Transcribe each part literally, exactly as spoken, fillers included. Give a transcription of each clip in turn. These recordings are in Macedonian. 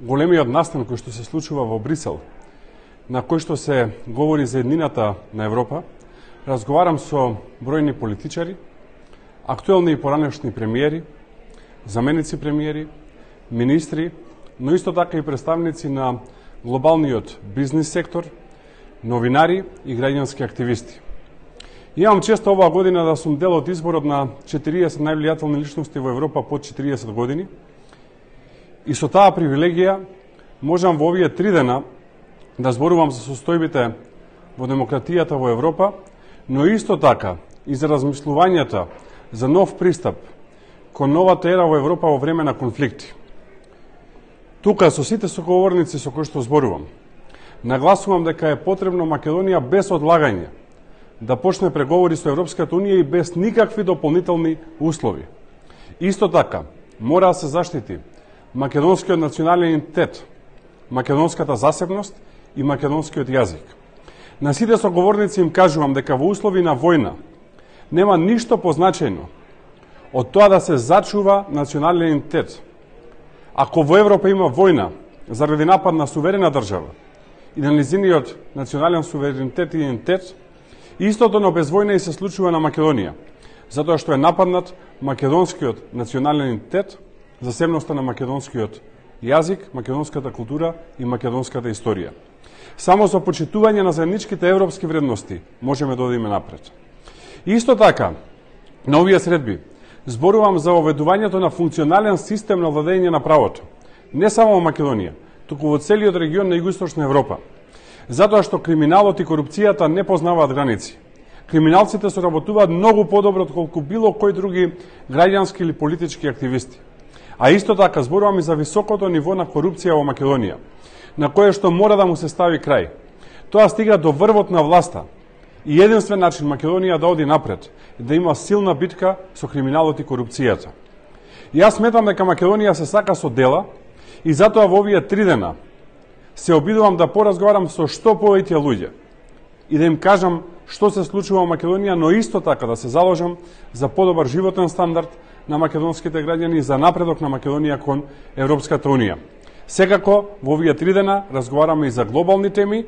големиот настан кој што се случува во Брисел, на кој што се говори за еднината на Европа, разговарам со бројни политичари, актуелни и поранешни премиери, заменици премиери, министри, но исто така и представници на глобалниот бизнис сектор, новинари и граѓански активисти. Имам често оваа година да сум дел од изборот на четириесет највлијателни личности во Европа под четириесет години и со таа привилегија можам во овие три дена да зборувам за состојбите во демократијата во Европа, но исто така и за размислувањата за нов пристап кон новата ера во Европа во време на конфликти. Тука со сите соговорници со кои што зборувам, нагласувам дека е потребно Македонија без одлагање да почне преговори со Европската Унија и без никакви дополнителни услови. Исто така, мора да се заштити македонскиот национален идентитет, македонската засебност и македонскиот јазик. На сите соговорници им кажувам дека во услови на војна нема ништо позначено од тоа да се зачува национален идентитет. Ако во Европа има војна заради напад на суверена држава и на низиниот национален суверенитет и идентитет, истото но без војна и се случува на Македонија, затоа што е нападнат македонскиот национален идентитет, засебноста на македонскиот јазик, македонската култура и македонската историја. Само со почитување на заедничките европски вредности можеме да одиме напред. Исто така, на овие средби зборувам за оведувањето на функционален систем на владење на правото, не само во Македонија, туку во целиот регион на Југоисточна Европа. Затоа што криминалот и корупцијата не познаваат граници. Криминалците соработуваат многу подобро отколку било кој други граѓански или политички активисти. А исто така зборувам и за високото ниво на корупција во Македонија, на кое што мора да му се стави крај. Тоа стига до врвот на власта. И единствен начин Македонија да оди напред е да има силна битка со криминалот и корупцијата. И јас сметам дека Македонија се сака со дела и затоа во овие три дена се обидувам да поразговарам со што повеќе луѓе и да им кажам што се случува во Македонија, но исто така да се заложам за подобар животен стандард на македонските граѓани и за напредок на Македонија кон Европската Унија. Секако, во овие три дена разговараме и за глобални теми,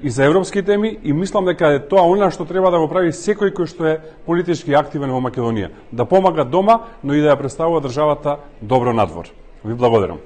и за европски теми, и мислам дека е тоа она што треба да го прави секој кој што е политички активен во Македонија. Да помага дома, но и да ја представува државата добро надвор. Ви благодарам.